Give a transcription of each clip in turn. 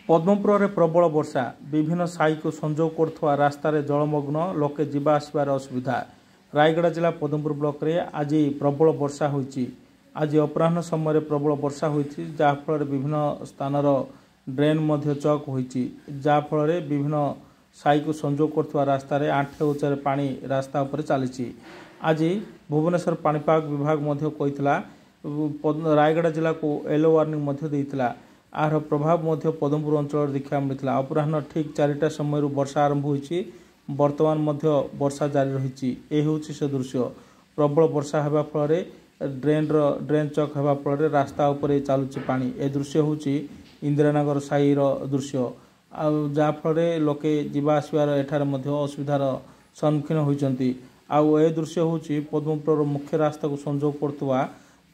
ପଦ୍ମପୁରରେ ପ୍ରବଳ ବର୍ଷା। ବିଭିନ୍ନ ସାହିକୁ ସଂଯୋଗ କରୁଥିବା ରାସ୍ତାରେ ଜଳମଗ୍ନ, ଲୋକେ ଯିବା ଆସିବାରେ ଅସୁବିଧା। ରାୟଗଡ଼ା ଜିଲ୍ଲା ପଦ୍ମପୁର ବ୍ଲକରେ ଆଜି ପ୍ରବଳ ବର୍ଷା ହୋଇଛି। ଆଜି ଅପରାହ୍ନ ସମୟରେ ପ୍ରବଳ ବର୍ଷା ହୋଇଛି, ଯାହାଫଳରେ ବିଭିନ୍ନ ସ୍ଥାନର ଡ୍ରେନ୍ ମଧ୍ୟ ଚକ୍ ହୋଇଛି। ଯାହାଫଳରେ ବିଭିନ୍ନ ସାହିକୁ ସଂଯୋଗ କରୁଥିବା ରାସ୍ତାରେ ଆଣ୍ଠେ ଉଚ୍ଚରେ ପାଣି ରାସ୍ତା ଉପରେ ଚାଲିଛି। ଆଜି ଭୁବନେଶ୍ୱର ପାଣିପାଗ ବିଭାଗ ମଧ୍ୟ କହିଥିଲା, ରାୟଗଡ଼ା ଜିଲ୍ଲାକୁ ୟେଲୋ ୱାର୍ଣ୍ଣିଂ ମଧ୍ୟ ଦେଇଥିଲା। ଏହାର ପ୍ରଭାବ ମଧ୍ୟ ପଦ୍ମପୁର ଅଞ୍ଚଳରେ ଦେଖିବାକୁ ମିଳିଥିଲା। ଅପରାହ୍ନ ଠିକ୍ 4ଟା ସମୟରୁ ବର୍ଷା ଆରମ୍ଭ ହୋଇଛି, ବର୍ତ୍ତମାନ ମଧ୍ୟ ବର୍ଷା ଜାରି ରହିଛି। ଏ ହେଉଛି ସେ ଦୃଶ୍ୟ। ପ୍ରବଳ ବର୍ଷା ହେବା ଫଳରେ ଡ୍ରେନ୍ର ଡ୍ରେନ୍ ଚକ୍ ହେବା ଫଳରେ ରାସ୍ତା ଉପରେ ଚାଲୁଛି ପାଣି। ଏ ଦୃଶ୍ୟ ହେଉଛି ଇନ୍ଦିରାନଗର ସାହିର ଦୃଶ୍ୟ, ଆଉ ଯାହାଫଳରେ ଲୋକେ ଯିବା ଆସିବାର ଏଠାରେ ମଧ୍ୟ ଅସୁବିଧାର ସମ୍ମୁଖୀନ ହୋଇଛନ୍ତି। ଆଉ ଏ ଦୃଶ୍ୟ ହେଉଛି ପଦ୍ମପୁରର ମୁଖ୍ୟ ରାସ୍ତାକୁ ସଂଯୋଗ କରୁଥିବା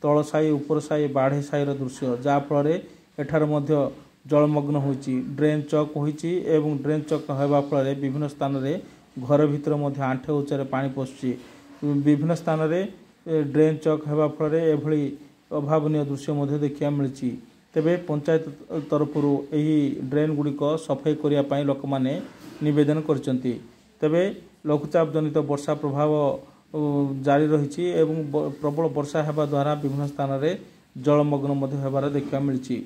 ତଳ ସାହି, ଉପର ସାହି, ବାଢ଼େଇ ସାହିର ଦୃଶ୍ୟ, ଯାହାଫଳରେ ଏଠାରେ ମଧ୍ୟ ଜଳମଗ୍ନ ହୋଇଛି, ଡ୍ରେନ୍ ଚକ୍ ହୋଇଛି ଏବଂ ଡ୍ରେନ୍ ଚକ୍ ହେବା ଫଳରେ ବିଭିନ୍ନ ସ୍ଥାନରେ ଘର ଭିତରେ ମଧ୍ୟ ଆଣ୍ଠେ ଉଚ୍ଚରେ ପାଣି ପଶୁଛି। ବିଭିନ୍ନ ସ୍ଥାନରେ ଡ୍ରେନ୍ ଚକ୍ ହେବା ଫଳରେ ଏଭଳି ଅଭାବନୀୟ ଦୃଶ୍ୟ ମଧ୍ୟ ଦେଖିବାକୁ ମିଳିଛି। ତେବେ ପଞ୍ଚାୟତ ତରଫରୁ ଏହି ଡ୍ରେନ୍ ଗୁଡ଼ିକ ସଫେଇ କରିବା ପାଇଁ ଲୋକମାନେ ନିବେଦନ କରିଛନ୍ତି। ତେବେ ଲଘୁଚାପ ଜନିତ ବର୍ଷା ପ୍ରଭାବ ଜାରି ରହିଛି ଏବଂ ପ୍ରବଳ ବର୍ଷା ହେବା ଦ୍ୱାରା ବିଭିନ୍ନ ସ୍ଥାନରେ ଜଳମଗ୍ନ ମଧ୍ୟ ହେବାର ଦେଖିବାକୁ ମିଳିଛି।